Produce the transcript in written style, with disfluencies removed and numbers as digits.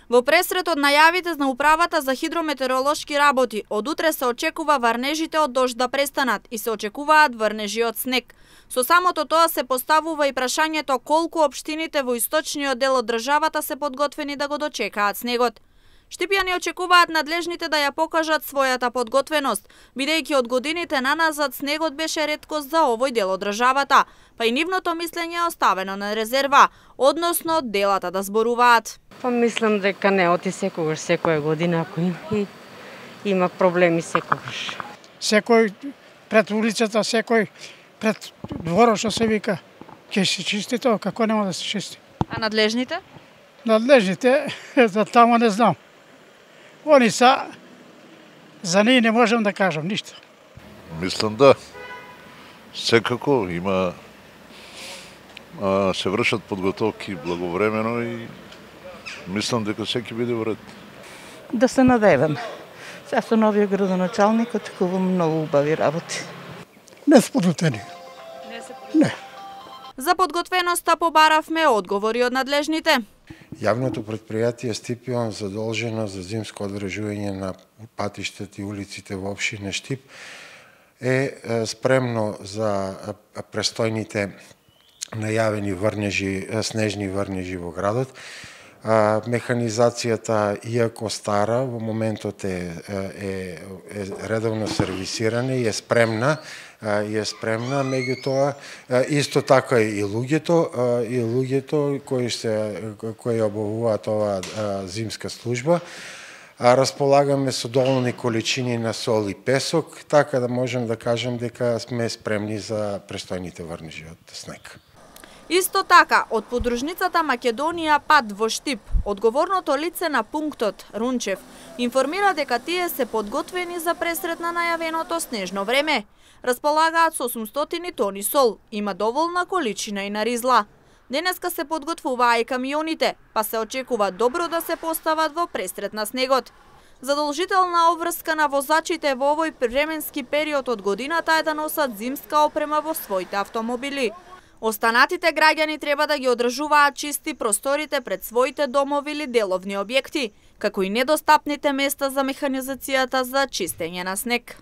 Во пресрет од најавите на управата за хидрометеоролошки работи, од утре се очекува врнежите од дожд да престанат и се очекуваат врнежи од снег. Со самото тоа се поставува и прашањето колку општините во источниот дел од државата се подготвени да го дочекаат снегот. Штипјани очекуваат надлежните да ја покажат својата подготвеност, бидејќи од годините наназад снегот беше реткост за овој дел од државата, па и нивното мислење е оставено на резерва, односно делата да зборуваат. Па мислам дека не оти секогаш, секоја година ако има проблеми секогаш. Секој пред улицата, секој пред дворот што се вика, ќе се чисти тоа, како нема да се чисти. А надлежните? Надлежните, за тамо не знам. Они са, за ние не можам да кажам ништо. Мислам да, секако има, се вршат подготовки благовремено и мислам дека секи биде во ред. Да се надевам. Сега со новиот градоначалник очекувам многу убави работи. Не се подготвени. Не. За подготвеноста побаравме одговори од надлежните. Јавното предпријатие Стипион задолжено за зимско одржување на патиштата и улиците во општина Штип е спремно за престојните најавени врнежи, снежни врнежи во градот. Механизацијата, иако стара, во моментот е редовно сервисирана и е спремна, меѓутоа исто така и луѓето кои обавуваат оваа зимска служба. Располагаме со доволни количини на сол и песок, така да можем да кажем дека сме спремни за престојните врнежи од снег. Исто така, од подружницата Македонија Пат во Штип, одговорното лице на пунктот, Рунчев, информира дека тие се подготвени за пресрет на најавеното снежно време. Располагаат со 800 тони сол, има доволна количина и на ризла. Денеска се подготвуваа и камионите, па се очекува добро да се постават во пресрет на снегот. Задолжителна обврска на возачите во овој временски период од годината е да носат зимска опрема во своите автомобили. Останатите граѓани треба да ги одржуваат чисти просторите пред своите домови или деловни објекти, како и недостапните места за механизацијата за чистење на снег.